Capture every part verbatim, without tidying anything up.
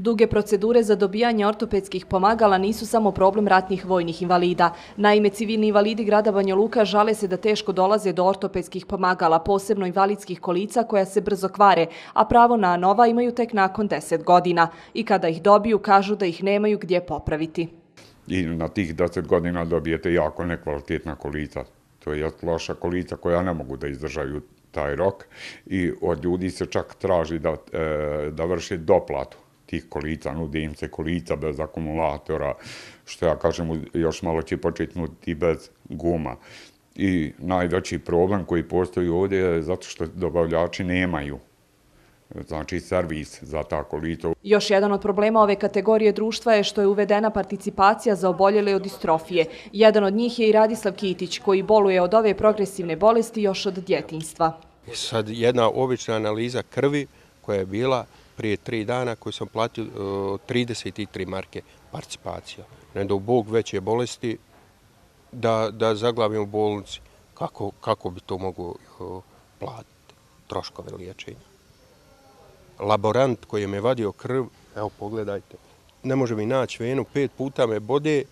Duge procedure za dobijanje ortopedskih pomagala nisu samo problem ratnih vojnih invalida. Naime, civilni invalidi grada Banja Luka žale se da teško dolaze do ortopedskih pomagala, posebno invalidskih kolica koja se brzo kvare, a pravo na nova imaju tek nakon deset godina. I kada ih dobiju, kažu da ih nemaju gdje popraviti. I na tih deset godina dobijete jako nekvalitetna kolica. To je loša kolica koja ne mogu da izdržaju taj rok i od ljudi se čak traži da, e, da vrše doplatu tih kolica, nude im se kolica bez akumulatora, što ja kažem još malo će početi nuditi bez guma. I najveći problem koji postoji ovdje je zato što dobavljači nemaju znači servis za ta kolica. Još jedan od problema ove kategorije društva je što je uvedena participacija za oboljele od distrofije. Jedan od njih je i Radislav Kitić, koji boluje od ove progresivne bolesti još od djetinjstva. Sad jedna obična analiza krvi koja je bila prije tri dana koju sam platio trideset tri marke participacija. Ne do Bog veće bolesti da, da zaglavim u bolnici. Kako, kako bi to mogu platiti? Troškove liječenja. Laborant koji me vadio krv, evo pogledajte, ne može mi naći venu, pet puta me bode,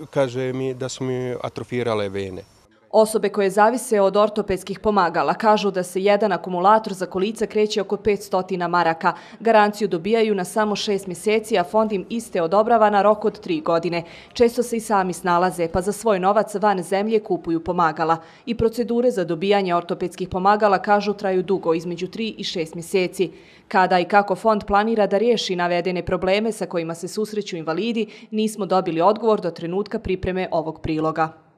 kaže mi da su mi atrofirale vene. Osobe koje zavise od ortopedskih pomagala kažu da se jedan akumulator za kolica kreće oko petsto maraka. Garanciju dobijaju na samo šest mjeseci, a fond im iste odobrava na rok od tri godine. Često se i sami snalaze, pa za svoj novac van zemlje kupuju pomagala. I procedure za dobijanje ortopedskih pomagala, kažu, traju dugo, između tri i šest mjeseci. Kada i kako fond planira da riješi navedene probleme sa kojima se susreću invalidi, nismo dobili odgovor do trenutka pripreme ovog priloga.